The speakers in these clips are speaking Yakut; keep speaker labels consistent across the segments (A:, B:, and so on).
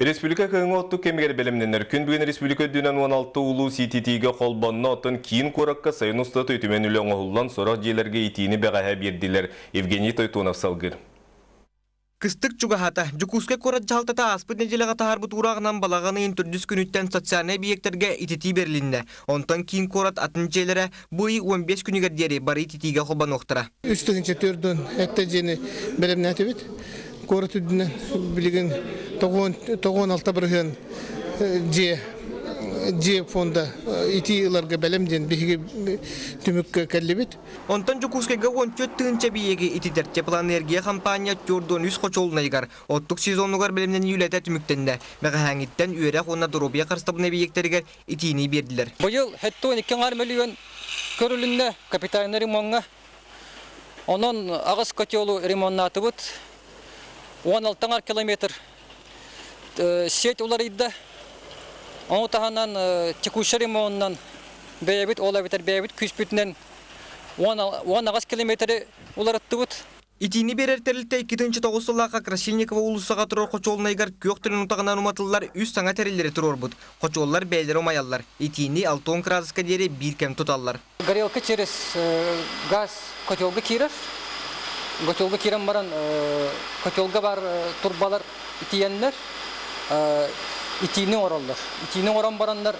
A: Республика кыһыҥҥы оттук кэмигэр бэлэмнэнэр. Күн бүгүн республика үрдүнэн 16 улуус ититиигэ холбонно, оттон киин куоракка сайын устата үтүмэн үлэ оҥоһуллан, сорох дьиэлэргэ итиини бэҕэһээ биэрдилэр. Евгений Тойтонов салгыыр.
B: Кыстык чугаһаата. Дьокуускай куорат дьаһалтата ааспыт нэдиэлэҕэ таһаарбыт уураҕынан балаҕан ыйын төрдүс күнүттэн социальнай эбийиэктэргэ ититии бэрилиннэ. Онтон киин куорат атын дьиэлэрэ бу ый 15 күнүгэр диэри бары ититиигэ холбонуохтара.
C: 3 400 сэттэ дьиэни бэлэмнээтибит. Куорат үрдүнэн билигин 96% дьиэ дьиэ фонда итии ыларга бэлэм диэн биһиги түмүккэ кэллибит.
B: Онтон Дьокуускайга 14 тыһыынча эбийиэги ититэр теплоэнергия хампаанньа 43 хочуолунайыгар оттук сезонугар бэлэмнэнии үлэтэ түмүктэннэ. Бэҕэһээҥҥиттэн үөрэх уонна доруобуйа харыстабылын эбийиэктэригэр итиини биэрдилэр.
D: Быйыл 72 миллион көрүлүннэ капитальный ремонҥа. Онон аҕыс котелу ремоннаатыбыт. 16 километр сеть уларыйда. Ону таһынан текущий ремонунан бэйэбит ол эбэтэр бэйэбит күүспүтүнэн 18 километры уларыттыбыт.
B: Итиини биэрэр тэрилтэ 2009 сыллаахха Красильникова уулуссаҕа турар хочуолунайыгар күөх төлөн утаҕынан уматыллар үс саҥа тэриллэри туруорбут. Хочуоллар бэйэлэрэ умайаллар. Итиини 60 градуска диэри биир кэм туталлар.
D: Горелка через газ котелга киирэр. Котелга киирэн баран котелга бар турбалар итийэннэр итиини оҥороллор. Итиини оҥорон бараннар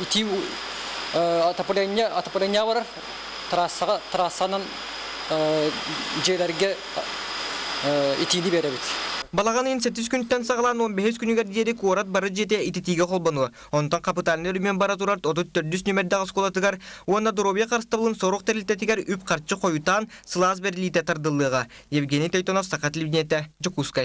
D: итии отопление отопление барар трассаҕа трассанан дьиэлэргэ итиини биэрэбит.
B: Балаҕан ыйын сэттис күнтэн саҕалаан 15 күнүгэр диэри куорат бары дьиэтэ ититиигэ холбонуо. Онтон капитальнай өрөмүөн бара турар 34 нүмердээх оскуолатыгар уонна доруобуйа харыстабылын сорох тэрилтэтигэр үп-харчы хойутаан сылаас бэриллиитэ тардыллыаҕа. Евгений Тойтонов, Саха телевидениетэ, Дьокуускай.